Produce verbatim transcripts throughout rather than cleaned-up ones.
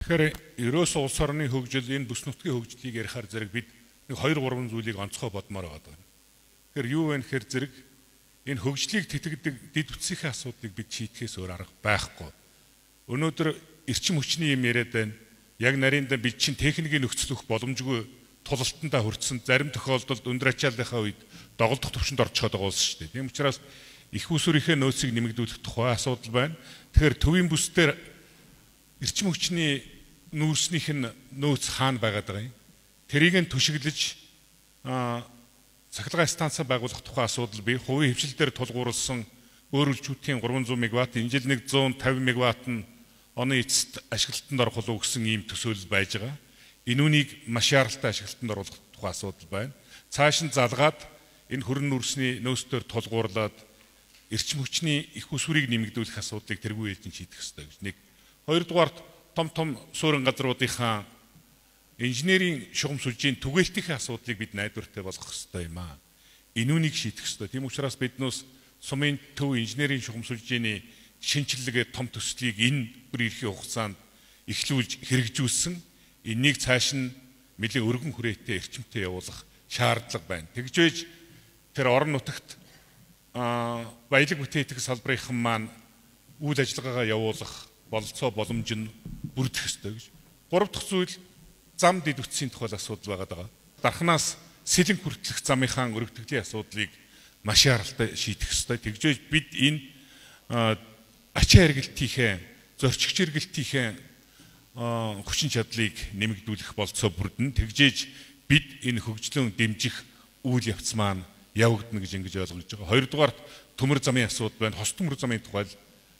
Тэгэхээр ерөөс улс орны хөгжил, энэ бүс нутгийн хөгжлийг ярихаар зэрэг бид нэг хоёр гурван зүйлийг онцгой бодмоор байгаа. Тэгэхээр юу вэ гэхээр зэрэг энэ хөгжлийг тэтгэдэг дэд үтсийнхээ асуудлыг бид шийдэхээс өөр арга байхгүй. Өнөөдөр эрчим хүчний юм яриад байна. Яг нарийнда бид чинь техникийн нөхцөл өгөх боломжгүй тулалтандаа хүрсэн, зарим тохиолдолд өндөр ачааллынхаа үед доголдох төвшөнд орчиход байгаа улс шүү дээ. Тийм учраас их усүрийнхээ нөөцийг нэмэгдүүлэх тухай асуудал байна. Тэгэхээр төвийн бүс дээр эрчим хүчний нүүрснийх нь нөөц хаана байгаад байгаа юм? Тэрийг нь түшиглэж цахилгаан станц байгуулах тухай асуудал бий. Хувийн хвшилтээр тулгуурласан өөр үлчүүдийн гурван зуун мегаватт, энэ жил нэг зуун тавин мегаватт нь оны эцэст ашиглалтанд орох болов гэсэн ийм төсөөлөл байж байгаа. Энүүнийг маш яралтай ашиглалтанд оруулах тухай асуудал байна. Цааш нь залгаад энэ хөрөн нүүрсний нөөцтөр тулгуурлаад эрчим хүчний их усүрийг нэмэгдүүлэх асуудлыг тэргүй ээлжин шийдэх ёстой гэж нэг. Хоёрдугаарт том том суурин газруудынхаа инженерийн шугам сүлжийн түгээлтийн асуудлыг бид найдвартай болгох ёстой юм аа. Энүүнийг шийдэх ёстой. Тийм учраас биднээс сумын төв инженерийн шугам сүлжээний шинжилгээ том төслийг энэ бүр ирэх хугацаанд эхлүүлж хэрэгжүүлсэн. Энийг цааш нь нэлээд өргөн хүрээтэй эрчимтэй явуулах шаардлага байна. Тэгж байж тэр орон нутагт баялаг бүтээтгэх салбарынхан маань үйл ажиллагаагаа явуулах бололцоо боломж нь бүрдэх ёстой гэж. Гурав дахь зүйл зам дэд үтсийн тухай асуудал байгаа даа. Дархнаас сэлэн хүртэлх замынхаа өргөдөглийн асуудлыг маш яралтай шийдэх ёстой. Тэгж байж бид энэ ачаа хэрэглэлтийнхээ, зорчигч хэрэглэлтийнхээ хүчин чадлыг нэмэгдүүлэх болцоо бүрдэн. Тэгжээж бид энэ хөгжлөн дэмжих үйл явц маань явагдана гэж ингэж ойлгож байгаа. Хоёрдугаарт төмөр замын асуудал байна. Хос төмөр замын тухай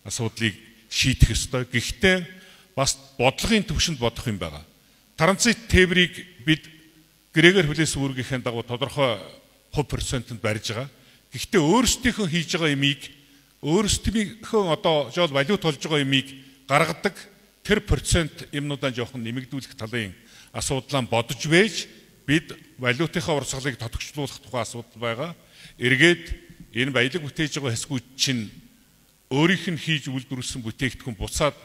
асуудлыг шийдэх ёстой. Гэхдээ бас бодлогын төвшөнд бодох юм байгаа. Транзит тээврийг бид гэрээгээр хүлээсэн үүргийнхээ дагуу тодорхой хувь процентод барьж байгаа. Гэхдээ өөрсдийнхөө хийж байгаа ямиг өөрсдийнхөө одоо жол валют болж байгаа ямиг гаргадаг тэр процент юмнуудаа жоохон нэмэгдүүлэх талын асуудлаа бодож байж бид валютынхаа урсгалыг тодорхойлуулах тухай асуудал байгаа. Эргээд энэ баялаг бүтээж байгаа хэсгүүд чинь өөрийнх нь хийж үйлдвэрлэсэн бүтээгдэхүүн буцаад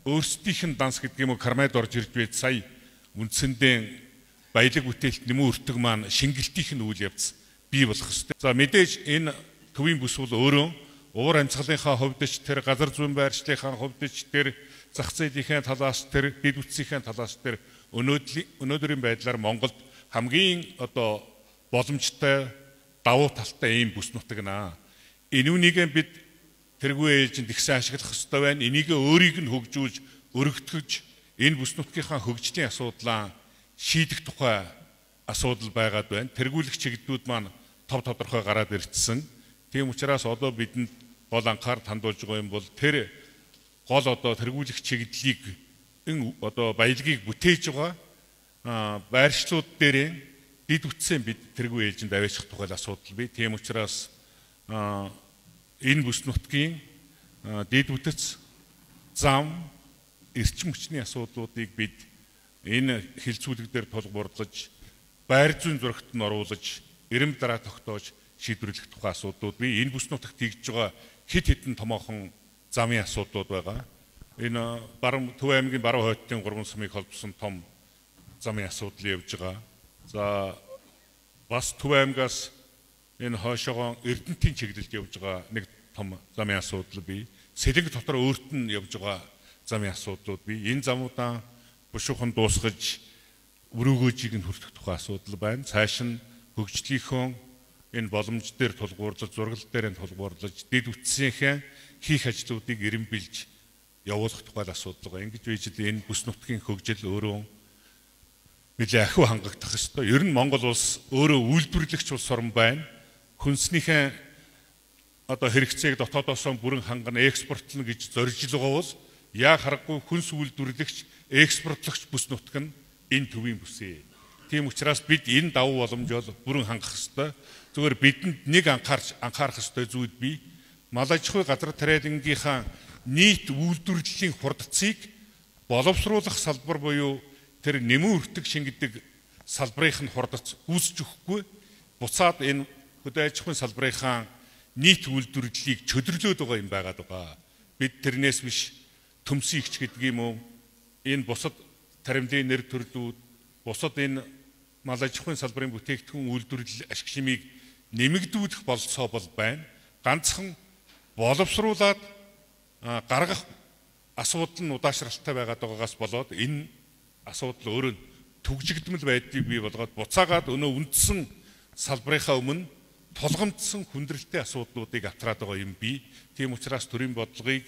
өөрсдийнх нь данс гэдэг юм уу кармайд орж ирж байд сая үндсэндээ баялаг бүтээлт нэмүү өртөг маань шингэлтийнх нь үйл явц бий болох ёстой. За мэдээж энэ төвийн бүс бол өөрөө уур амьсгалынхаа хувьд ч тэр газар зүйн байршлийнхаа хувьд ч тэр зах зээлийн талаас тэр дэд үтсийн талаас тэр өнөөдрийн байдлаар Монголд хамгийн одоо боломжтой давуу талтай ийм бүс нутаг наа. Энүүнийг бид тэргүй ээлжинд ихсэн ашиглах ёстой байна. Энийг өөрийг нь хөгжүүлж, өргөтгөж энэ бүс нутгийнхаа хөгжлийн асуудлаа шийдэх тухай асуудал байгаад байна. Тэргүүлэх чиглэлүүд маань тов тодорхой гараад ирсэн. Тийм учраас одоо бидэнд гол анхаарал хандуулж байгаа юм бол тэр гол одоо тэргүүлэх чиглэлийг энэ одоо баялагийг бүтээж байгаа байршлууд дээр дэд үтсээ бид тэргүй ээлжинд аваачих тухай асуудал бий. Тийм учраас энэ бүс нутгийн дэд үтс, зам, эрчим хүчний асуудлуудыг бид энэ хилцүүлэг дээр тулгуурлаж, байр зүйн зурагт нь оруулаж, эрэм дараа тогтоож шийдвэрлэх тухай асуудлууд бий. Энэ бүс нутагт хийж байгаа хэд хэдэн томоохон замын асуудлууд байгаа. Энэ баруун Төв аймгийн баруун хойдтын гурван сумыг холбосон том замын асуудал явж байгаа. За бас Төв аймгаас энэ хойшоогоо Эрдэнэтийн чиглэлд явж байгаа нэг том замын асуудал бий. Сэлэнг дотор өөрт нь явж байгаа замын асуудлууд бий. Энэ замуудаа бушуухан дуусгаж өрөөгөөжийг нь хүртэх тухай асуудал байна. Цааш нь хөгжлийнхөө энэ боломж дээр тулгуурлаж, зургал дээр нь тулгуурлаж, дэд үтсийнхээ хийх ажлуудыг эренбилж явуулах тухай асуудал байгаа. Ингэж байж л энэ бүс нутгийн хөгжил өөрөө нэлээд ахиу хангагдах ёстой. Ер нь Монгол улс өөрөө үйлдвэрлэгч улс орн байна. Хүнснийхээ одоо хэрэгцээг дотоодоос бүрэн хангана, экспортлно гэж зорж л байгаа бол яа харахгүй хүнс үйлдвэрлэгч, экспортлогч бүс нутаг нь энэ төвийн бүсээ. Тийм учраас бид энэ давуу боломжоо бүрэн хангах ёстой. Зүгээр бидэнд нэг анхаарч анхаарах ёстой зүйл бий. Мал аж ахуй газар тариалангийнхаа нийт үйлдвэрлэлийн хурдцыг боловсруулах салбар буюу тэр нэмэн өртөг шингэдэг салбарынх нь хурдц үүсэж өгөхгүй буцаад энэ хөдөө аж ахуйн салбарынхаа нийт үйлдвэрлэлийг чөдөрлөөд байгаа юм байгаад байгаа. Бид тэрнээс биш төмсөн ихч гэдэг юм уу энэ бусад таримдын нэр төрлүүд, бусад энэ мал аж ахуйн салбарын бүтээгдэхүүн үйлдвэрлэл ашиг шимийг нэмэгдүүлэх болцоо бол байна. Ганцхан боловсруулад гаргах асуудал нь удаашралтай байгаад байгаагаас болоод энэ асуудал өөрөө түгжигдмэл байдлыг бий болгоод буцаагаад өнөө үндсэн салбарынхаа өмнө тулгамдсан хүндрэлтэй асуудлуудыг атраад байгаа юм бий. Тийм учраас төрийн бодлогыг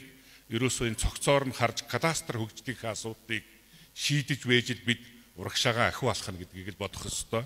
ерөөсөө энэ цогцоор нь харж кадастр хөгжлийн асуудлыг шийдэж вэжил бид урагшаагаа ахиу алах нь гэдгийг л бодох ёстой.